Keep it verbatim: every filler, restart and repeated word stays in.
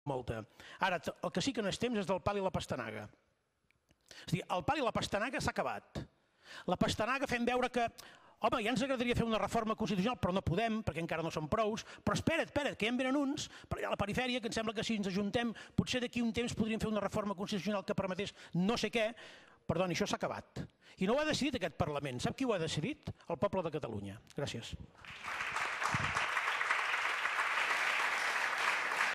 molta. Ara, el que sí que no és temps és del pal i la pastanaga. És a dir, el pal i la pastanaga s'ha acabat. La pastanaga fem veure que, home, ja ens agradaria fer una reforma constitucional, però no podem, perquè encara no som prous, però espera't, espera't, que ja en venen uns, per allà a la perifèria, que em sembla que si ens ajuntem, potser d'aquí un temps podríem fer una reforma constitucional que permetés no sé què. Perdoni, això s'ha acabat. I no ho ha decidit aquest Parlament. Sap qui ho ha decidit? El poble de Catalunya. Gràcies.